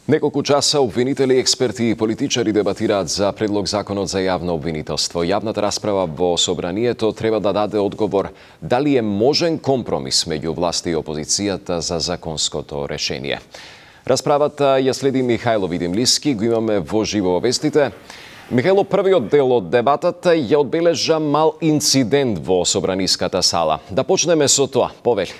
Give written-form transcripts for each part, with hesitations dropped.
Неколку часа обвинители, експерти и политичари дебатираат за предлог законот за јавно обвинителство. Јавната расправа во собранието треба да даде одговор дали е можен компромис меѓу власта и опозицијата за законското решение. Расправата ја следи Михајло Видимлиски, го имаме во живо вестите. Михајло, првиот дел од дебатата ја одбележа мал инцидент во собраниската сала. Да почнеме со тоа, повели.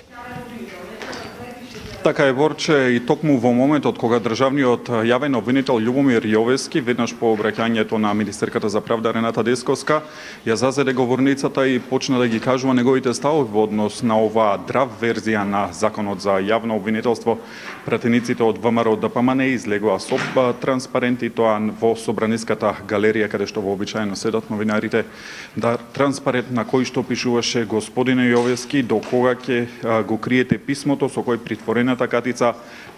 Така е, Борче, и токму во моментот кога државниот јавен обвинител Љубомир Јовески, веднаш по обраќањето на министерката за правда Рената Десковска, ја зазеде говорницата и почна да ги кажува неговите ставови во однос на оваа драв верзија на законот за јавно обвинителство. Пратениците од ВМРО ДПМН излегува со транспаренти, тоа во собраниската галерија каде што вообичаено седат новинарите, да транспарент на кој што пишуваше: господине Јовески, до кога ќе го криете писмото со кој притворената катица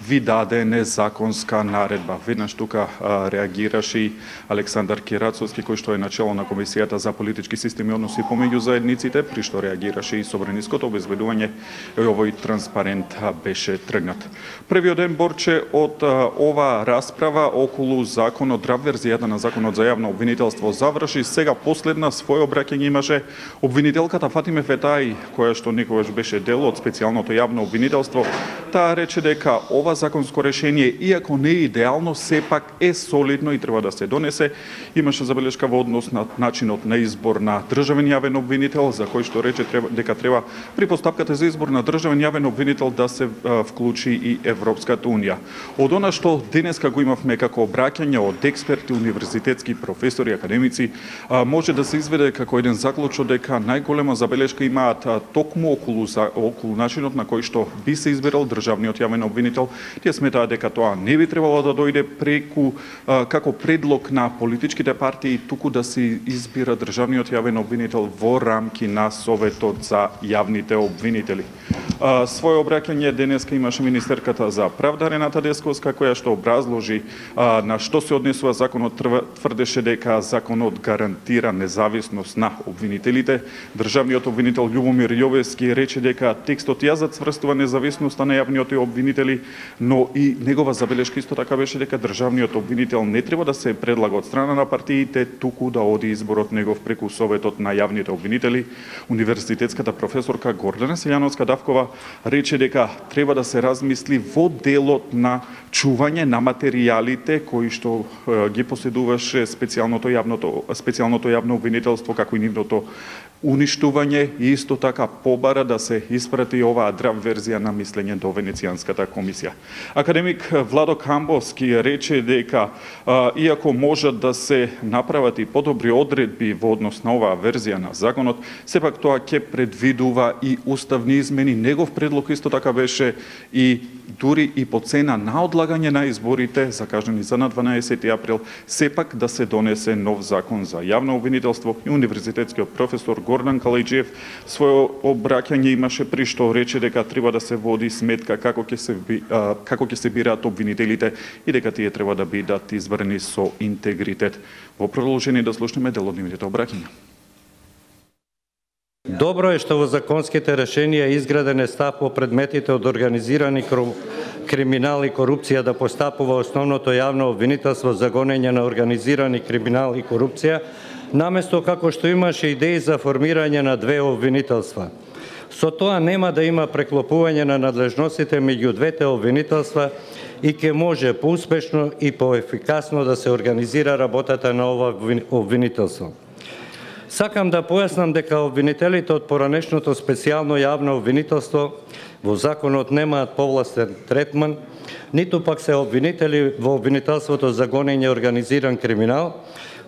ви даде незаконска наредба. Веднаш тука реагираше и Александар Кирацовски, кој што е начело на Комисијата за политички системи и односи помеѓу заедниците, при што реагираше и собраниското обезбедување, овој транспарент беше тргнат. Првиот ден, Борче, од ова расправа околу законот, драв верзијата на законот за јавно обвинителство заврши. Сега последна свој обраќање имаше обвинителката Фатиме Фетаи, која што некогаш беше дел од специјалното јавно обвинителство. Таа рече дека ова законско решение, иако не е идеално, сепак е солидно и треба да се донесе. Имаше забелешка во однос на начинот на избор на државен јавен обвинител, за кој што рече дека треба при постапката за избор на државен јавен обвинител да се вклучи и Европската унија. Од она што денеска го имавме како обраќање од експерти, универзитетски професори, академици, може да се изведе како еден заклучок дека најголема забелешка имаат токму околу начинот на кој што би се избирал државниот јавен обвинител. Тие сметаат дека тоа не би требало да дојде преку како предлог на политичките партии, туку да се избира државниот јавен обвинител во рамки на Советот за јавните обвинители. Своје обраќање денеска имаше министерката за правда Рената Десковска, која што образложи на што се однесува законот. Тврдеше дека законот гарантира независност на обвинителите. Државниот обвинител Љубомир Јовески рече дека текстот ја зацврстува независноста на јавните обвинители, но и негова забелешка исто така беше дека државниот обвинител не треба да се предлага од страна на партиите, туку да оди изборот негов преку Советот на јавните обвинители. Универзитетската професорка Гордана Силјановска-Давкова рече дека треба да се размисли во делот на чување на материјалите кои што ги поседуваше специјалното јавно обвинителство, како и нивното уништување, и исто така побара да се испрати оваа драв верзија на мислење до Венецијанската комисија. Академик Владо Камбовски рече дека иако можат да се направат и подобри одредби во однос на оваа верзија на законот, сепак тоа ќе предвидува и уставни измени. Негов предлог исто така беше и дури и по цена на одлагање на изборите, закажани за на 12 април, сепак да се донесе нов закон за јавно обвинителство. И универзитетскиот професор Гордан Калајџиев својо обраќање имаше, при што рече дека треба да се води сметка како ќе се бираат обвинителите и дека тие треба да бидат избрани со интегритет. Во продолжение да слушнеме дел од нивните обраќања. Добро е што во законските решенија е изграден став по предметите од организирани криминал и корупција да постапува основното јавно обвинителство за гонење на организирани криминал и корупција, наместо како што имаше идеи за формирање на две обвинителства. Со тоа нема да има преклопување на надлежностите меѓу двете обвинителства и ќе може поуспешно и поефикасно да се организира работата на ова обвинителство. Сакам да појаснам дека обвинителите од поранешното специјално јавно обвинителство во законот немаат повластен третман, ниту пак се обвинители во обвинителството за гонење организиран криминал.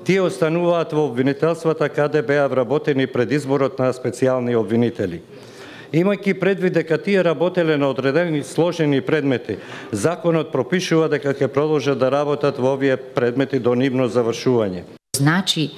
Тие остануваат во обвинителствата каде беа вработени пред изборот на специјални обвинители. Имајќи предвид дека тие работеле на одредени сложени предмети, законот пропишува дека ќе продолжат да работат во овие предмети до нивно завршување. Значи,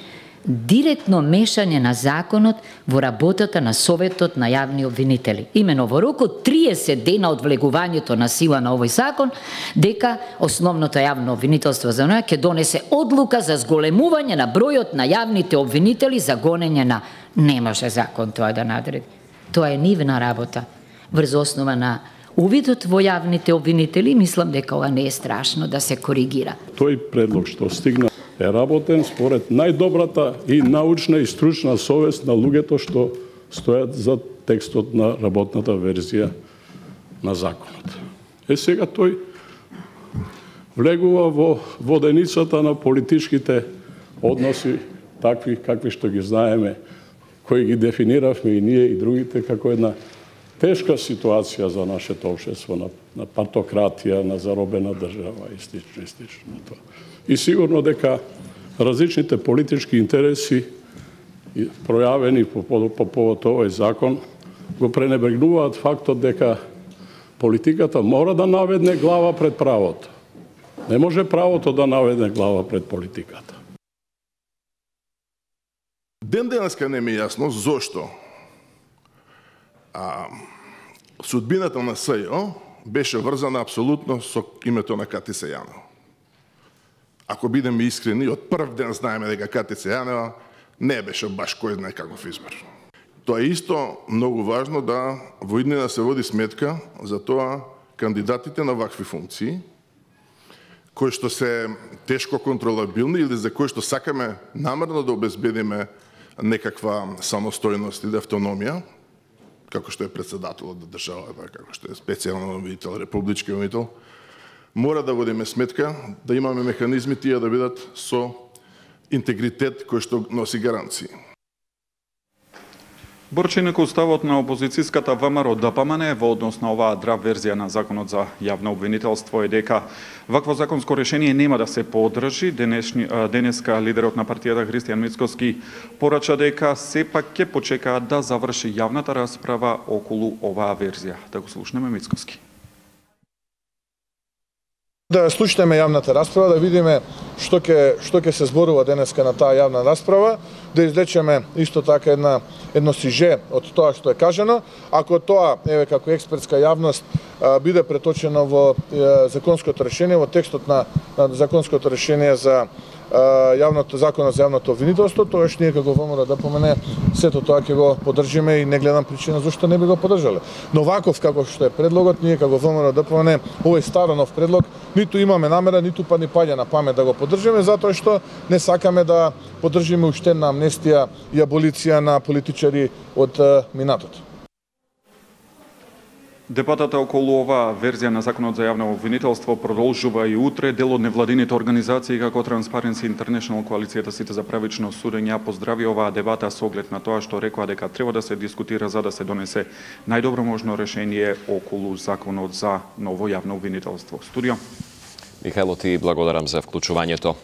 директно мешање на законот во работата на Советот на јавни обвинители. Имено во рок од 30 дена од влегувањето на сила на овој закон, дека основното јавно обвинителство за неа ќе донесе одлука за зголемување на бројот на јавните обвинители за гонење на... Не може закон тоа да надреди. Тоа е нивна работа, врз основа на увидот во јавните обвинители, мислам дека ова не е страшно да се коригира. Тој предлог што стигна е работен според најдобрата и научна и стручна совест на луѓето што стојат за текстот на работната верзија на законот. Сега тој влегува во воденицата на политичките односи, такви какви што ги знаеме, кои ги дефиниравме и ние и другите како една тешка ситуација за нашето општество, на партократија, на заробена држава и слично тоа. И сигурно дека различните политички интереси пројавени по повод овој закон го пренебрегнуваат фактот дека политиката мора да наведне глава пред правото. Не може правото да наведне глава пред политиката. Ден денеска не ми е јасно зошто судбината на СЈО беше врзана апсолутно со името на Катица Јанева. Ако бидеме искрени, од прв ден знаеме дека Катица Јанева не беше баш кој знае каков избор. Тоа е исто многу важно да во иднина се води сметка за тоа кандидатите на вакви функции, кои што се тешко контролабилни или за кои што сакаме намерно да обезбедиме некаква самостојност или автономија, како што е председателот на државата, како што е специјален обвинител, републички обвинител, мора да водиме сметка да имаме механизми тие да бидат со интегритет кој што носи гаранции. Борченик уставот на опозицијската ВМРО ДПМН во однос на оваа драв верзија на законот за јавно обвинителство е дека вакво законско решение нема да се поддржи. Денеска лидерот на партијата Христијан Мицкоски порача дека сепак ќе почекаат да заврши јавната расправа околу оваа верзија. Да го слушнеме Мицкоски. Да слушнеме јавната расправа, да видиме што ќе се зборува денеска на таа јавна расправа, да извлечеме исто така едно сиже од тоа што е кажано. Ако тоа, еве како експертска јавност, биде преточено во законското решение, во текстот на законското решение за законот за јавното обвинителство, тоаш ние како ВМРО ДПМН сето тоа ќе го поддржиме и не гледам причина зашто не би го поддржале. Но ваков како што е предлогот, ние како ВМРО ДПМН овој старонов предлог ниту имаме намера, ниту па ни паѓа на памет да го поддржиме, затоа што не сакаме да поддржиме уштена амнестија и аболиција на политичари од минатото. Дебатата околу оваа верзија на законот за јавно обвинителство продолжува и утре. Дел од невладините организации како Transparency International, коалицијата Сите за правично судење, поздрави оваа дебата со оглед на тоа што рекоа дека треба да се дискутира за да се донесе најдобро можно решение околу законот за ново јавно обвинителство. Студио. Михајло, ти благодарам за вклучувањето.